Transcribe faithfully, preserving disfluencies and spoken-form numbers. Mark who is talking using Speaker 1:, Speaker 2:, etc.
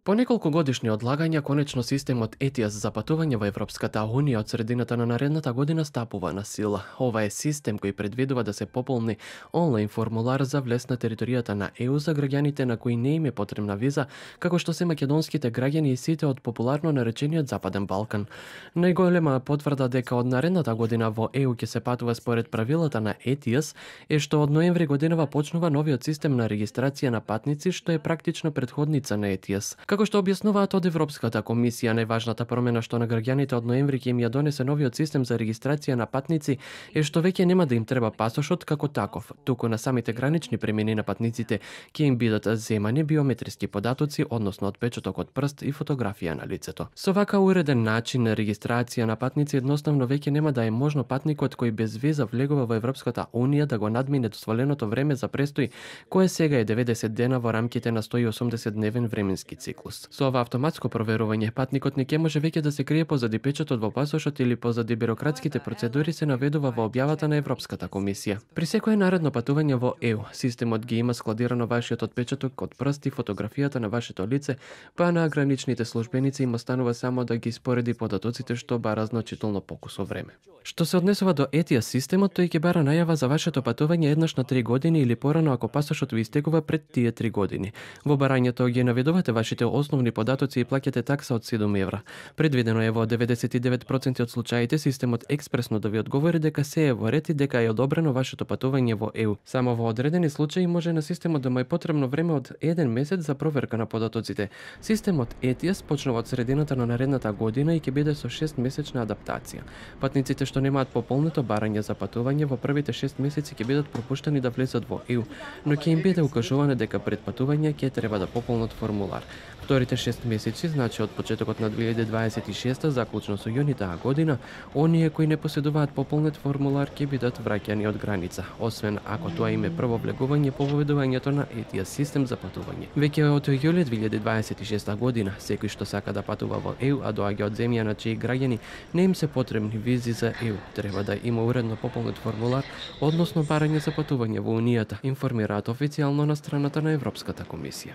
Speaker 1: По неколку годишни одлагања, конечно системот и ти ес за патување во Европската Унија од средината на наредната година стапува на сила. Ова е систем кој предвидува да се пополни онлайн формулар за влез на територијата на е у за граѓаните на кои не им е потребна виза, како што се македонските граѓани и сите од популарно наречениот Западен Балкан. Најголема потврда дека од наредната година во е у ќе се патува според правилата на и ти ес е што од ноември годинава почнува новиот систем на регистрација на патници, што е практично претходница на и ти ес. Како што објаснуваат од Европската комисија, најважната промена што на граѓаните од ноември ќе им ја донесе новиот систем за регистрација на патници е што веќе нема да им треба пасошот како таков, туку на самите гранични премини на патниците ќе им бидат земани биометриски податоци, односно отпечаток од прст и фотографија на лицето. Со вака уреден начин на регистрација на патници едноставно веќе нема да е можно патникот кој без виза влегува во Европската Унија да го надмине дозволеното време за престој, кое сега е деветдесет дена во рамките на сто и осумдесет дневен временски циклус. Со ова автоматско проверување, патникот не ќе може веќе да се крие позади печатот во пасошот или позади бирократските процедури, се наведува во објавата на Европската комисија. При секое наредно патување во е у, системот ги има складирано вашиот отпечаток од прст и фотографијата на вашето лице, па на граничните службеници им останува само да ги спореди податоците, што бара значително покусо време. Што се однесува до и ти ес системот, тој ќе бара најава за вашето патување еднаш на три години или порано ако пасошот ви истекува пред тие три години. Во барањето ги наведувате вашите основни податоци и плаќате такса од седум евра. Предвидено е во деветдесет и девет проценти од случаите системот експресно да ви одговори дека се е во ред и дека е одобрено вашето патување во е у. Само во одредени случаи може на системот да му е потребно време од еден месец за проверка на податоците. Системот и ти ес почнува од средината на наредната година и ќе биде со шест месечна адаптација. Патниците што немаат пополнето барање за патување во првите шест месеци ќе бидат пропуштени да влезат во е у, но ќе им биде укажувано дека пред патување ќе треба да пополнат формулар. Вторите шест месеци, значи од почетокот на две илјади дваесет и шеста заклучно со јуни таа година, оние кои не поседуваат пополнет формулар ќе бидат враќани од граница, освен ако тоа им е прво влегување по воведувањето на и ти ес систем за патување. Веќе од јули две илјади дваесет и шеста година, секој што сака да патува во е у, а доаѓа од земја на чии граѓани не им се потребни визи за е у, треба да има уредно пополнет формулар, односно барање за патување во Унијата, информираат официјално на страната на Европската комисија.